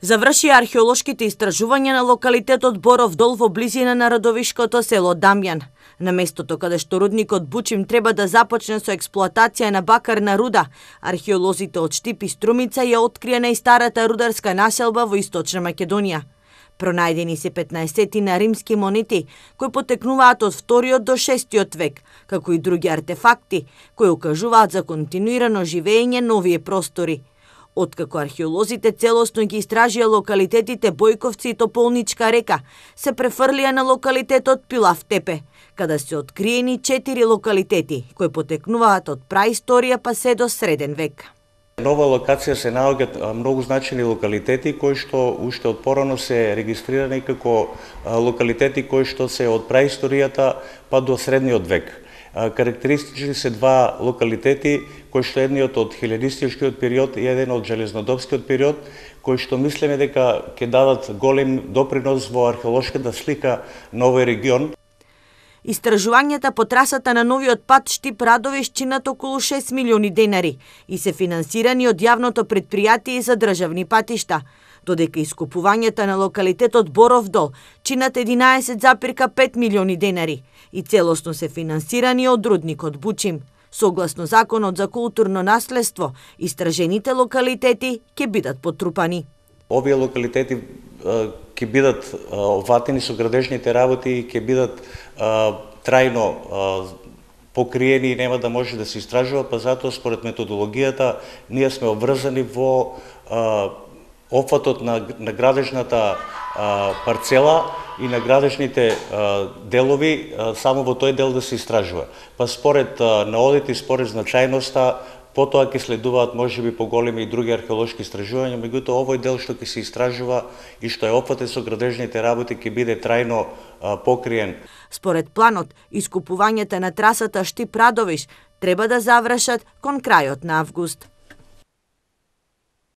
Заврши археолошките истражувања на локалитетот Боров дол во близина на родовишкото село Дамјан. На местото каде што рудникот Бучим треба да започне со експлоатација на бакарна руда, археолозите од Штип и Струмица ја открија најстарата рударска населба во Источна Македонија. Пронајдени се 15 на римски монети, кои потекнуваат од 2 до 6 век, како и други артефакти, кои укажуваат за континуирано живење на овие простори. Откако археолозите целосно ги истражија локалитетите Бојковци и Тополничка река, се префрлија на локалитетот Пилав Тепе, каде се откриени 4 локалитети, кои потекнуваат од праисторија па се до среден век. На ова локација се наоѓаат многу значени локалитети кои што уште од порано се регистрирани како локалитети кои што се од праисторијата па до средниот век. Карактеристични се два локалитети, кои што едниот од хилјадистичкиот период и еден од железнодопскиот период, кои што мислиме дека ќе дадат голем допринос во археолошката слика на овој регион. Истражувањата по трасата на новиот пат Штип-Радовиш чинат околу 6 милиони денари и се финансирани од јавното претпријатие за државни патишта, додека искупувањата на локалитетот Боров дол чинат 11,5 милиони денари и целосно се финансирани од рудникот Бучим. Согласно Законот за културно наследство, истражените локалитети ќе бидат потрупани. Овие локалитети ќе бидат оватени со градежните работи и ќе бидат трајно покриени и нема да може да се истражува, па затоа според методологијата ние сме обврзани во опфатот на градежната парцела и на градежните делови, само во тој дел да се истражува. Па според наодите и според значајноста, потоа ќе следуваат можеби поголеми и други археолошки истражувања, меѓутоа овој дел што ќе се истражува и што е опфатен со градежните работи ќе биде трајно покриен. Според планот, искупувањата на трасата Штип-Радовиш треба да завршат кон крајот на август.